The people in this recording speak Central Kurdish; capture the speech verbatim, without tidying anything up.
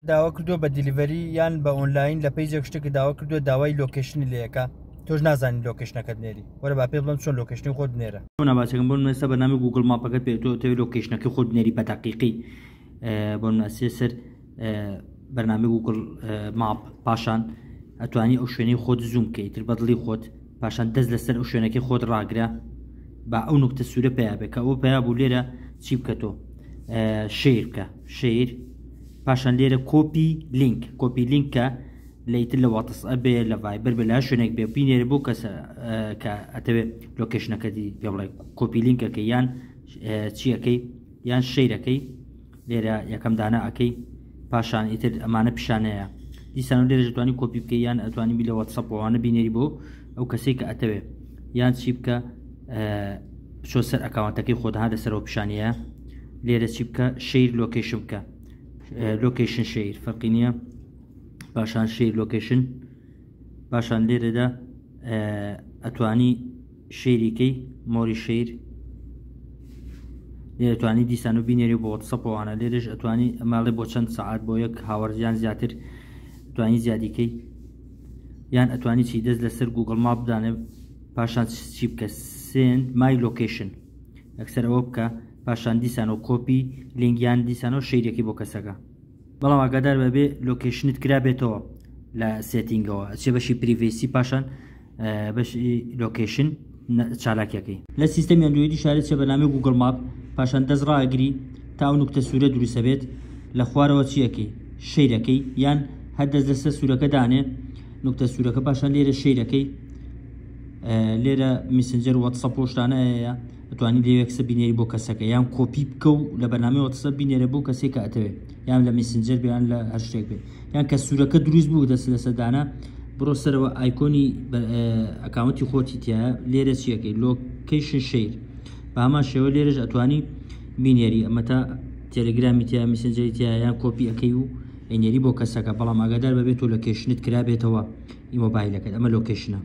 داوا کردووە بە delivery یان بە ئۆنلاین لە page ێک شتێک داوا کردووە، داوای location ی لێەکە، تۆش نازانی location ەکەت نێری. وەرە با پێ بڵێم چۆن location ی خۆت بنێرە. باشەکەم، بۆ نمونە بەرنامەی Google Map ەکەت پێ تۆ تەوێ location ەکەی خۆت بنێری بە دەقیقی. بۆ نمونە سەر بەرنامەی Google Map، پاشان ئەتوانی ئەو شوێنەی خۆت zoom بکەیت تر بەدڵی خۆت، پاشان دەست لەسەر ئەو شوێنەکەی خۆت ڕاگرە با ئەو نوکتە سوورە پیا بێ. کە ئەوە پیا بوو لێرە چی بکە؟ تۆ share بکە، share، پاشان لێرە copy link، copy link کە لەیتر لە واتسئەپ بێ، لە ڤایبەر بێ، لە شوێنێک بێ، بینێرە بۆ کەسە کە ئەتەوێ location ەکەتی پێ بڵێ. copy link ەکەی یان چیەکەی یان share ەکەی لێرە یەکەم دانا ئەەکەی، پاشان ئیتر ئەمانە پیشانەیە. دیسان لێرە دەتوانی کۆپی بکەی یان ئەتوانی بی لە واتسەپەوانە بینێری بۆ ئەو کەسێک کە ئەتەوێ، یان چی بکە؟ بچۆ سەر account ەکەی خۆدها لەسەرەوە پیشانەیە، لێرە چی بکە؟ share location بکە، location share فەرقی نییە، پاشان share location، پاشان لێرەدا ئەتوانی share یکەی، more share، لێرە توانی دیسان و بینێری بۆ واتسەپەوانە. لێرەش ئەتوانی ئەماڵێ بۆ چەند سعات، بۆ یەک hour یان زیاتر توانی زیادیکەی، یان ئەتوانی چی؟ دەست لەسەر Google Map دانێ، پاشان چی بکە؟ send my location، ئەکسەر ئەوە بکە، پاشان دیسانەوە copy link یان دیسانەوە share ەکەی بۆ کەسەکە. بەڵام ئاگادار بەبێ location ت کرابێتەوە لە setting ەوە، ئەچێ بەشی privacy، پاشان بەشی location چالاکیەکەی. لە سیستەمی ئەندرۆیدی شارێت چێ بەنامی Google Map، پاشان دەست ڕاگری تا ئەو نوکتە سوورە دروستە بێت لە خوارەوە، چیەکەی؟ share ەکەی، یان هەر دەست لەسەر سوورەکە دانێ، نوکتە سوورەکە، پاشان لێرە share ەکەی. لێرە میسنجەر، واتسەپ پۆشتانە هەیە، ئەتوانی لێ یەکسە بینێری بۆ کەسەکە، یان کۆپی بکە و لە بەرنامەی واتسەپ بینێرە بۆ کەسێک کە ئەتەوێت، یان لە میسنجەر بێ یان لە هەر شتێک بێ. یان کە سوورەکە دروست بوو دەست لەسەر دانا، بڕۆ سەرەوە icon ی account ی خۆتی تایە، لێرە چیەکەی؟ location share. بە هەمان شێوە لێرەش ئەتوانی بینێری، ئەمە تا تێلگرامی تیا، میسنجەری تیا، یان کۆپی ئەەکەی و ئەینێری بۆ کەسەکە. بەڵام ئاگادار بەبێت تۆ location ت کرابێتەوە ئی مۆبایلەکەت. ئەمە location ە.